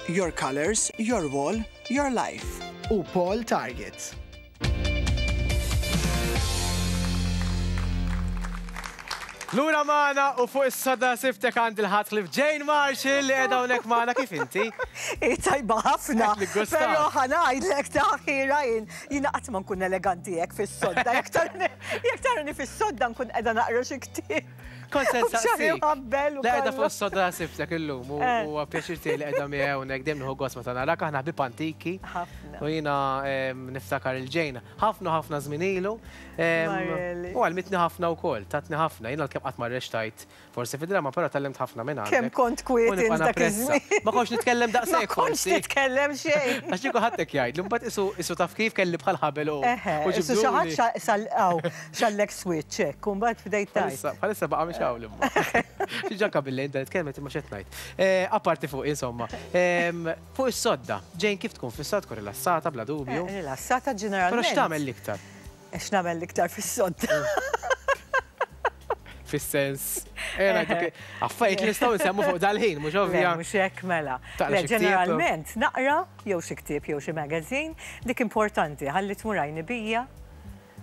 Your colours, your wall, your life. U Paul Target. Lura magħna u fuq is-soda siftek għand il-ħadd ħlief Jane Marshall li qiegħda hawnhekk magħna kif inti? Hi tajba ħafna. Però ħa ngħidlek ta' ħira jien jiena qatt ma nkun eleganti hekk fis-sodda. Jekk tarani fis-sodda nkun qiegħda naqra xi ktieb. Kont se nsaqsik. Le qiegħda fuq is-sodda sibtek illum u eh. huwa pjaċir tiegħi li qiegħda miegħi hawnhekk dejjem nieħu gost meta narak aħna ħbieb antiki. U jiena niftakar il-ġejna ħafna ħafna żmien ilu. U għalmitni ħafna wkoll, tatni ħafna. Jiena l-kemm qatt ma rrextajt forsi fid-drama, però tallimt ħafna minn għandek. Kemm kont kwiet dak iż-żmien. Ma kontx nitkellem daqshekk. Ma kontx nitkellem xejn. Għax kieku ħadd hekk jgħidli, mbagħad isu isu taf kif kelli bħal ħabel u. Isu xi ħadd xallek switch hekk, u mbagħad bdejt tgħid. Bħalissa baqa' mhix hawn imma. Xi ġanka bil-lejl dan tkellmet imma x'qed ngħid. Eh, apparti fuq insomma. Fuq is-sodda, Jane kif tkun fis-sodda tkun rilassata bla dubju. Eh, rilassata ġeneralment. Però x'tagħmel l-iktar? Eh, x'nagħmel l-iktar fis-sodda? Fis-sens. Affarijiet li nistgħu nsemmu fuq dal-ħin, mhux ovvja. Mhux hekk mela. Ġeneralment naqra jew xi ktieb jew xi magazine, dik importanti ħalli tmur għajni bija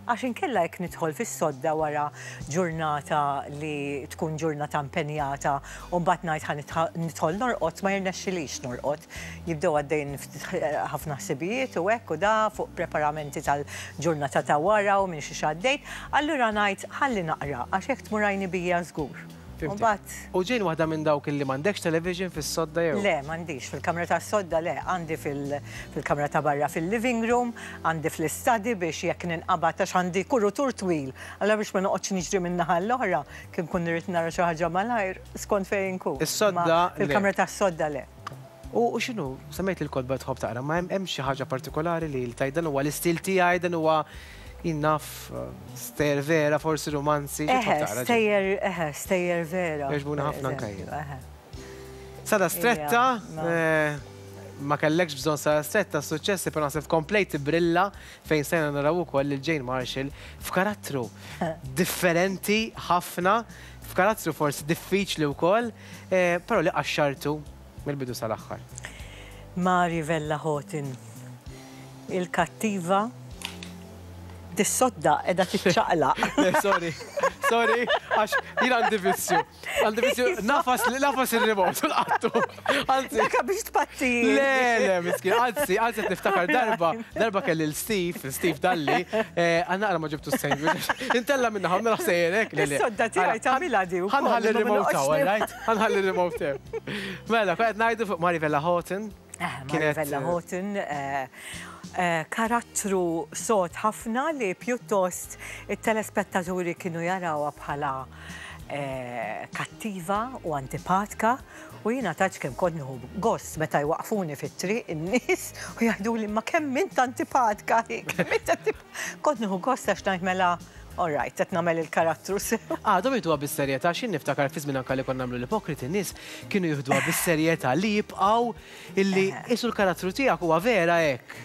Għax inkella jekk nidħol fis-sodda wara ġurnata li tkun ġurnata impenjata u mbagħad ngħid ħa nidħol norqod ma jirnexxilix norqod. Jibdew għaddejjin ftit ħafna ħsibijiet u hekk u da fuq preparamenti tal-ġurnata ta' wara u minn xiex għaddejt. Allura ngħid ħalli naqra għax hekk tmur għajni bija żgur. U mbagħad. U Jane waħda minn dawk illi m'għandekx television fis-sodda jew? Le, m'għandix. Fil-kamra tas-sodda le. Għandi fil-kamra ta' barra fil-living room, għandi fl-istudy biex jekk ninqabad għax għandi kurutur twil. Allura biex ma noqgħodx niġri minn naħa għall-oħra, kif nkun irrid nara xi ħaġa malajr, skont fejn inkun. Is-sodda le. Fil-kamra tas-sodda le. U x'inhu, semmejt li l-kotba tħobb taqra, ma hemm xi ħaġa partikolari li tgħid dan huwa l-istil tiegħi, dan huwa jien naf stejjer vera, forsi rumanzi, xi tħobb taqra? Stejjer, eħe, stejjer vera. Jogħġbuna ħafna anke jien. Sada stretta, ma kellekx bżonn sada stretta s-suċċessi, però naħseb komplejt tibrilla fejn stajna naraw ukoll lil Jane Marshall f'karattru differenti ħafna, f'karattru forsi diffiċli wkoll, però li qaxxartu mill-bidu sal-aħħar. Mari Vella Houghton, il-kattiva, dis-sodda qiegħda tiċċaqlaq. Le, sorry, sorry, għax jien għandi vizzju. Għandi vizzju, nafas, nafas il-remote u lqattu. Anzi. Daka biex tpatti. Le, le, miskin, anzi, anzi qed niftakar darba, darba kelli l-Steve, Steve Dalli, għal naqra ma ġibtu s-sandwich. Intella minna ħamna ħsejjerek. Is-sodda tiegħi tagħmilha di wkoll. Ħa nħalli r-remote hawn, all right? Ħa nħalli r-remote hemm. Mela, kont qed ngħidu fuq Mari Vella Houghton. Eh, Mari Vella Houghton, eh, eh, karattru sod ħafna li pjuttost it-telespettaturi kienu jarawha bħala kattiva u antipatka u jiena tgħidx kemm kont nieħu gost meta jwaqqfuni fit-triq in-nies u jgħiduli imma kemm int antipatka hi, kemm int antipatka. Kont nieħu gost għax ngħid mela all right, qed nagħmel il-karattru sew. Għadhom jieħduha bis-serjetà għax jien niftakar fi żmien anke li konna nagħmlu l-ipokriti n-nies kienu jieħduha bis-serjetà li jibqgħu illi qisu l-karattru tiegħek huwa vera hekk.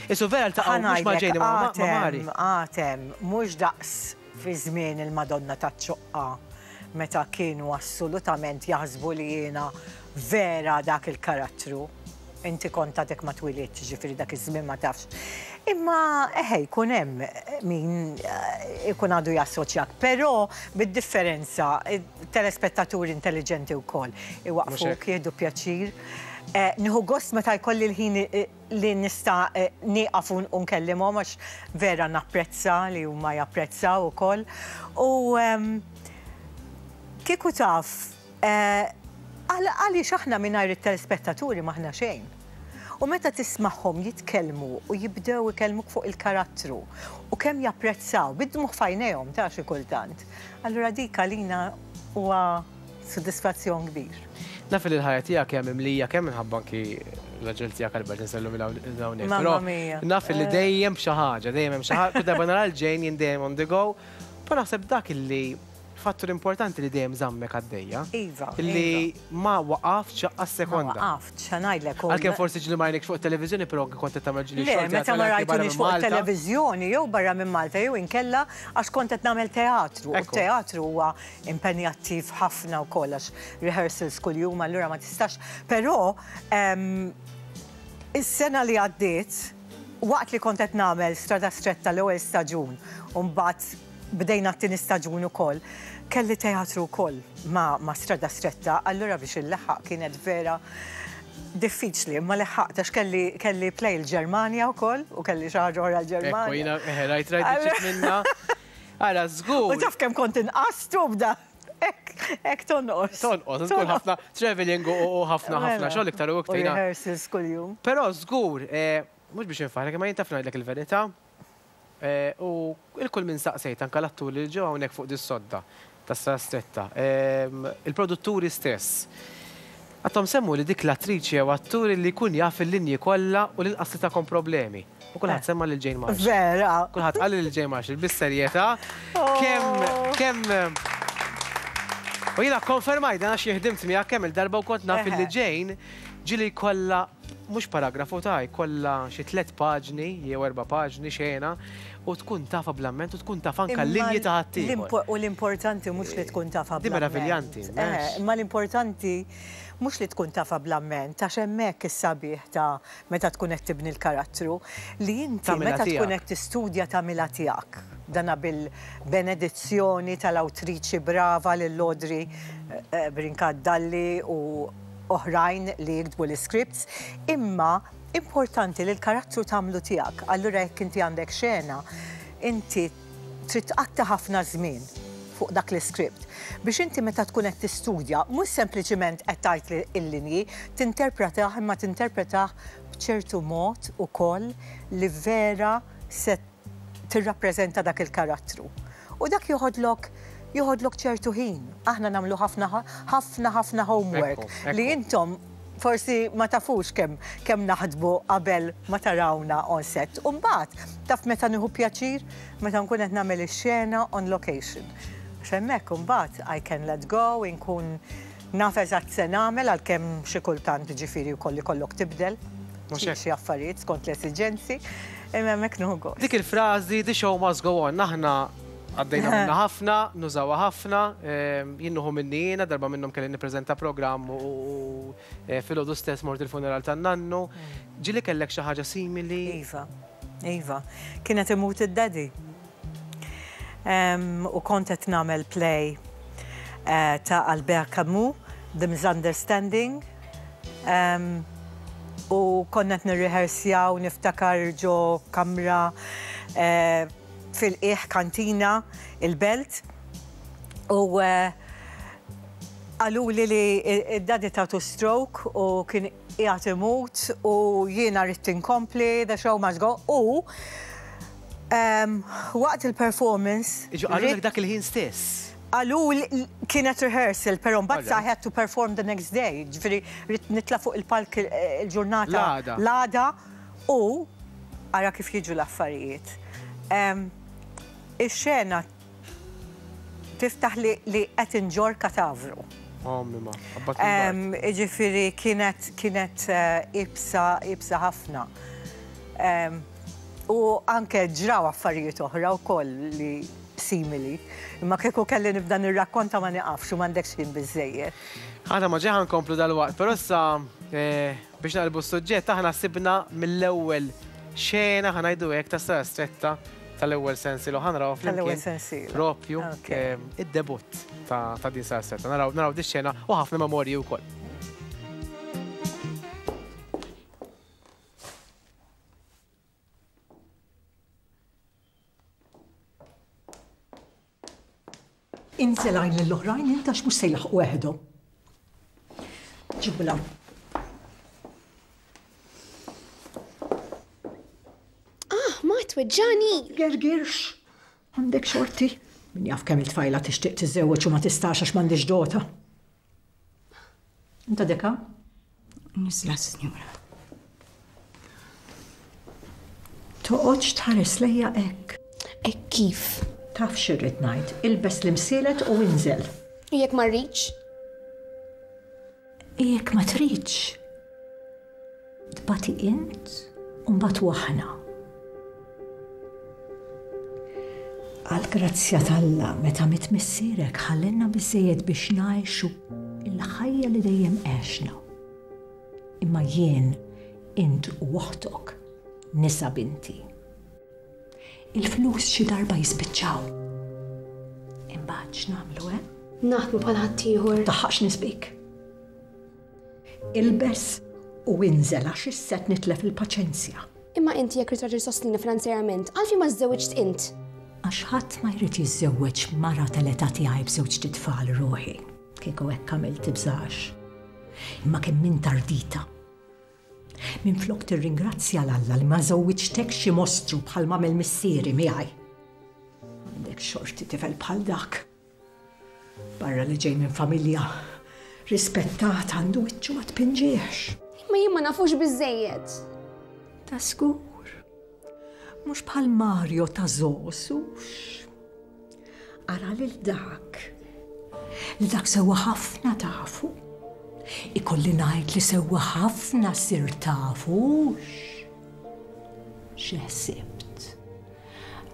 Qisu vera ltaqgħu mhux ma' Jane imma ma' Mari. Għad hemm, mhux daqs fi żmien il-Madonna taċ-Ċoqqa meta kienu assolutament jaħsbu li jiena vera dak il-karattru. Inti kont għadek ma twilidtx, jiġifieri dak iż-żmien ma tafx. Imma eħe jkun hemm min ikun għadu jassoċjak, però bid-differenza telespettaturi intelliġenti wkoll iwaqqfuk, jieħdu pjaċir. Nieħu gost meta jkolli l-ħin li nista' nieqaf u nkellimhom għax vera napprezza li huma japprezzaw ukoll. U kieku taf Għaliex aħna mingħajr it-telespettaturi m'aħna xejn. U meta tismagħhom jitkellmu u jibdew ikellmuk fuq il-karattru u kemm japprezzaw, bid-dmugħ f'għajnejhom ta' xi kultant, allura dik għalina huwa sodisfazzjon kbir. Naf li l-ħajja tiegħek hija mimlija kemm minħabba anki l-raġel tiegħek Albert insellmu minn hawnhekk. Mamma mia. Naf li dejjem b'xi ħaġa, dejjem hemm xi ħaġa, kull darba nara l-Jane jien dejjem on the go, però naħseb dak illi. Fattur importanti li dejjem żammek għaddejja. Iva. Li ma waqaftx għas sekonda. Ma waqaftx, ħa ngħidlek. Għalkemm forsi ġieli ma rajnikx fuq it-televiżjoni, però anke kont qed tagħmel ġieli xogħol. Le, meta ma rajtunix fuq it-televiżjoni jew barra minn Malta jew inkella għax kont qed nagħmel teatru. U t-teatru huwa impenjattiv ħafna wkoll għax rehearsals kuljum allura ma tistax. Però is-sena li għaddiet, waqt li kont qed nagħmel Strada Stretta l-ewwel staġun u mbagħad Bdejna t-tieni staġun ukoll. Kelli teatru wkoll ma' ma' Strada Stretta, allura biex illeħħaq kienet vera diffiċli, imma leħħaqt għax kelli kelli play il-Ġermanja wkoll u kelli xi ħaġa oħra l-Ġermanja. Ekku, jiena eħe rajt rajt biċċiet minnha. Ara, żgur. U taf kemm kont inqast u bda hekk hekk tonqos. Tonqos, tkun ħafna travelling u ħafna ħafna xogħol iktar u iktar. U rehearsals kuljum. Però żgur, mhux biex infaħħrek imma jien taf ngħidlek il-verità, U 'l kull min saqsejt, anke l-atturi li ġew hawnhekk fuq dis-sodda tas-Sala Stretta, il-produtturi stess, għadhom semmu li dik l-attriċi jew attur li jkun jaf il-linji kollha u l-inqas li tagħkom problemi. U kulħadd semma lil Jane Marshall. Vera! Kulħadd qal lil Jane Marshall bis-serjetà kemm kemm U jiena kkonfermajt dan għax jien ħdimt miegħek kemm-il darba u kont naf illi Jane ġieli jkollha mhux paragrafu ta' jkollha xi tlett paġni jew erba' paġni xena u tkun tafha bl-amment u tkun taf anke l-linji ta' ħaddieħor. U l-importanti mhux li tkun tafha bl-amment. Di meraviljanti. Imma l-importanti mhux li tkun tafha bl-amment għax hemmhekk is-sabiħ ta' meta tkun qed tibni l-karattru li inti meta tkun qed tistudja tagħmilha tiegħek. Dana bil-benedizzjoni tal-awtriċi brava lil Audrey Brincat Dalli u oħrajn li jiktbu l-iscripts, imma importanti li l-karattru tagħmlu tiegħek. Allura jekk inti għandek xena, inti trid tqatta' ħafna żmien fuq dak l-iscript biex inti meta tkun qed tistudja mhux sempliċiment qed tgħid il-linji, tinterpretah imma tinterpretah b'ċertu mod ukoll li vera se tirrappreżenta dak il-karattru. U dak joħodlok joħodlok ċertu ħin. Aħna nagħmlu ħafna ħafna ħafna homework li intom forsi ma tafux kemm kemm naħdmu qabel ma tarawna on set. U mbagħad taf meta nieħu pjaċir meta nkun qed nagħmel ix-xena on location. Għax hemmhekk imbagħad I can let go, inkun Naf eżatt se nagħmel għalkemm xi kultant ġifieri wkoll ikollok tibdel xi affarijiet skont l-esiġenzi, imma hemmhekk nieħu gost. Dik il-frażi the show must go on, aħna għaddejna minnha ħafna, nużawha ħafna, jien nieħu minni jiena, darba minnhom kelli nippreżenta programm u filgħodu stess mort il-funeral tan-nannu. Ġieli kellek xi ħaġa simili? Iva, iva. Kien qed imut id-daddy. U kont qed nagħmel play ta' Albert Camus, The Misunderstanding. U konna qed nirriħersjaw niftakar ġo kamra fil-qiegħ kantina il-Belt. U qaluli li d-daddy tatu stroke u kien qiegħed imut u jiena ridt inkompli, the show must go u waqt il-performance. Jiġu qalulek dak il-ħin stess? Qaluli, kienet rehearsal, però mbagħad I had to perform the next day, ġifieri ridt nitla' fuq il-palk il-ġurnata. L-għada. L-għada u ara kif jiġu l-affarijiet. Ix-xena Tiftaħ li li qed inġorr katavru. Ommi ma, qabbat il-bard. Jiġifieri kienet kienet iebsa iebsa ħafna. U anke ġraw affarijiet oħra wkoll li simili. Imma kieku kelli nibda nirrakkonta ma niqafx u m'għandekx ħin biżżejjed. Aħna ma ġej ħa nkomplu dalwaqt, però issa biex naqlbu s-suġġett aħna sibna mill-ewwel xena ħa ngħidu hekk ta' Sara Stretta tal-ewwel sensiela u ħa narawha flimkien propju id-debutt ta' din Sara Stretta. Naraw naraw dix-xena u ħafna memorji wkoll. Inżel għajn lill-oħrajn int għax mhux se jlaħħqu weħidhom. Ġibu 'l hawn. Ah, ma tweġġani! Gergirx! Għandek xorti. Min jaf kemm il-tfajla tixtieq tiżżewweġ u ma tistax għax m'għandhiex dota. Inta deka? Nizla, sinjura. Toqgħodx tħares lejja hekk. Hekk kif? Taf x'irrid ngħid, ilbes l-imsielet u inżel. U jekk ma rridx? Jekk ma tridx, tbati int u nbatu aħna. Għall-grazzja t'Alla, meta miet missierek ħallilna biżżejjed biex ngħixu l-ħajja li dejjem għexna. Imma jien, int u oħtok, nisa binti. Il-flus xi darba jispiċċaw. Imbagħad x'nagħmlu, eh? Naħdmu bħal ħaddieħor. Taħħaqx nisbik. Ilbes u inżel għax issa qed nitlef il-paċenzja. Imma inti jekk ridt raġel sostnina finanzjarjament, għalfejn ma żżewwiġt int? Għax ħadd ma jrid jiżżewweġ mara tal-età tiegħi b'żewġt itfal ruħi. Kieku hekk għamilt tibżax. Imma kemm int ardita. Minflok tirringrazzja 'l Alla li ma żewwiġtekx xi mostru bħal m'għamel missieri miegħi. Għandek xorti tifel bħal dak. Barra li ġej minn familja rispettata għandu wiċċu ma tpinġihx. Imma jien ma nafux biżżejjed. Ta' żgur. Mhux bħal Mario ta' Zos, hux? Ara lil dak. Lil dak sewwa ħafna tafu. Ikolli ngħid li sewwa ħafna sirt tafu, hux? Xi ħsibt?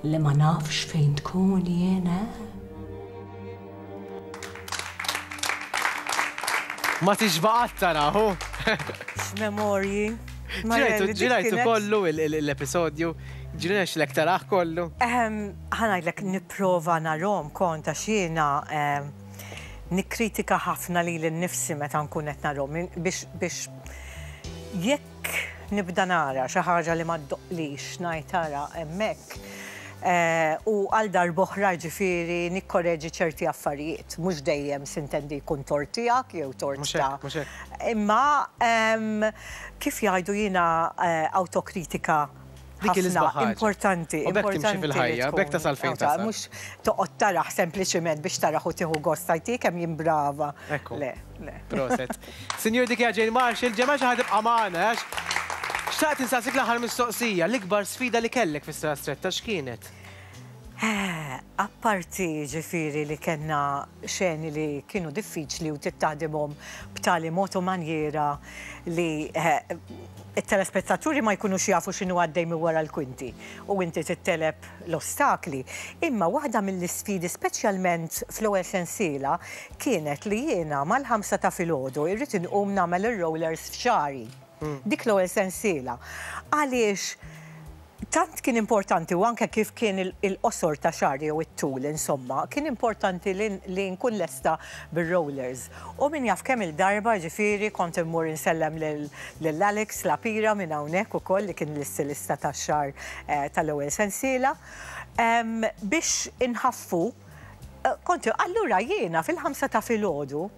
Li ma nafx fejn tkun jien, eh? Ma tixba' qatt tara, hu? X'memorji. Ġirajtu kollu l-episodju, ġirnexlek tarah kollu? Ħa ngħidlek nipprova narhom kont għax jiena nikkritika ħafna lili nnifsi meta nkun qed narhom biex jekk nibda nara xi ħaġa li ma ddoqqlix ngħid ara hemmhekk u għal darb'oħra jiġifieri nikkoreġi ċerti affarijiet. Mhux dejjem sintendi jkun tort tiegħek jew tort ta' Imma kif jgħidu jiena awtokritika Dik hi l-isbaħ ħaġa. Importanti. U b'hekk timxi fil-ħajja, b'hekk tasal fejn tasal. Mhux toqgħod tarah sempliċiment biex tarah u tieħu gost tgħid hi kemm jien brava. Ekku. Le, le. Proset. Sinjur dik hija Jane Marshall, ġemgħa xi ħadd ibqa' magħna għax xtaqt insaqsik l-aħħar mistoqsija, l-ikbar sfida li kellek fis-Strada Stretta x'kienet? Apparti jiġifieri li kellna xeni li kienu diffiċli u trid taħdimhom b'tali mod u manjiera li t-telespettaturi ma jkunux jafu x'inhu għaddej minn wara l-kwinti u inti trid tegħleb l-ostakli. Imma waħda mill-isfidi speċjalment fl-ewwel sensiela kienet li jiena mal-ħamsa ta' filgħodu irrid inqum nagħmel ir-rollers f'xagħri. Dik l-ewwel sensiela. Għaliex Tant kien importanti u anke kif kien il-qosor ta' xagħri jew it-tul insomma, kien importanti li nkun lesta bir-rollers. U min jaf kemm-il darba ġifieri kont immur insellem lil Alex Lapira minn hawnhekk ukoll li kien l-istilista tax-xagħar tal-ewwel sensiela biex inħaffu kont allura jiena fil-ħamsa ta' filgħodu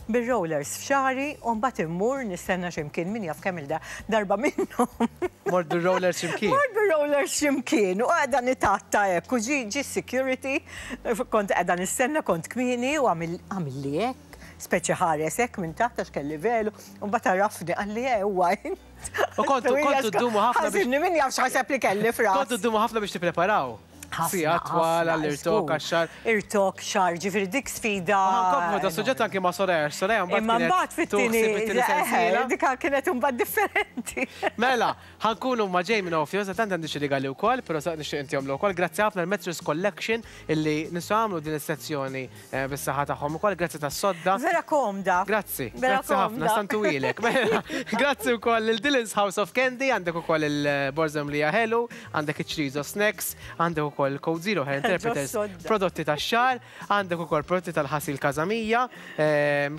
Bir-rollers f'xagħri u mbagħad immur nistenna xi mkien min jaf kemm-il darba minnhom. Mort bir-rollers xi mkien? Mort bir-rollers xi mkien u qiegħda nitgħatta hekk u ġie ġie s-security, kont qiegħda nistenna kont kmieni u għamilli hekk, speċi ħares hekk minn taħt għax kelli velu u mbagħad għarafni qalli eh huwa int. U kontu kontu ddumu ħafna biex. Ħażinni min jaf x'ħaseb li kelli f'rasi. Kontu ddumu ħafna biex tippreparaw. Sigħat twal għall-irtokk għax-xagħar. Irtokk, xagħar, ġifieri dik sfida. U ħa nkomplu da suġġett anki ma' Soraya, għax Soraya mbagħad kienet tieħu ħsieb it-tieni sensiela. Dik kienet imbagħad differenti. Mela, ħa nkunu ma' Jamie Nofio, sa tant għandi xi rigali wkoll, però sa nixtieq intihomlu wkoll. Grazzi ħafna l-Mattress Collection illi nistgħu nagħmlu din is-sezzjoni bis-saħħa tagħhom ukoll. Grazzi tas-sodda. Vera komda. Grazzi. Grazzi ħafna, stantuwilek. Mela, grazzi wkoll lil Dylan's House of Candy, għandek ukoll il-borża mlija ħelu, għandek iċ-Chorizo Snacks, għandek ukoll Code Zero Hair Interpreters, prodotti tax-xagħar, għandek ukoll prodotti tal-ħasil Casa Mia,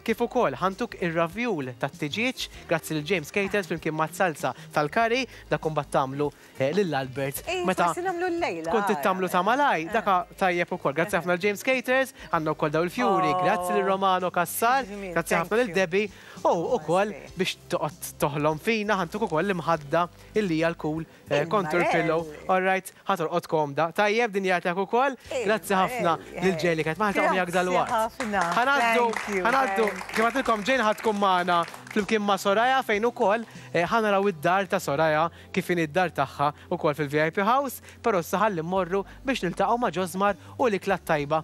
kif ukoll ħantuk ir-ravjul tat-tiġieġ, grazzi lil James Caters flimkien mat-salsa tal-curry, dak imbagħad tagħmlu lil Albert. Meta forsi nagħmlu llejla. Tkun trid tagħmlu ta' malaj, dak tajjeb ukoll. Grazzi ħafna lil James Caters, għandna wkoll daw il-fjuri, grazzi lil Romano Cassar, grazzi ħafna lil Debbie, u ukoll biex toqgħod toħlom fina ħantuk ukoll l-imħadda illi hija l-cool contour pillow. All right, ħa torqod komda. Tajjeb. Tajjeb dinja tiegħek ukoll. Grazzi ħafna lil Jane li kienet magħna niltaqgħu miegħek dalwaqt. Ħa ngħaddu, ħa ngħaddu, kif għedtilkom Jane ħa tkun magħna flimkien ma' Soraya fejn ukoll ħa naraw id-dar ta' Soraya kif inhi d-dar tagħha ukoll fil-VIP House, però issa ħalli mmorru biex niltaqgħu ma' Josmar u l-ikla t-tajba.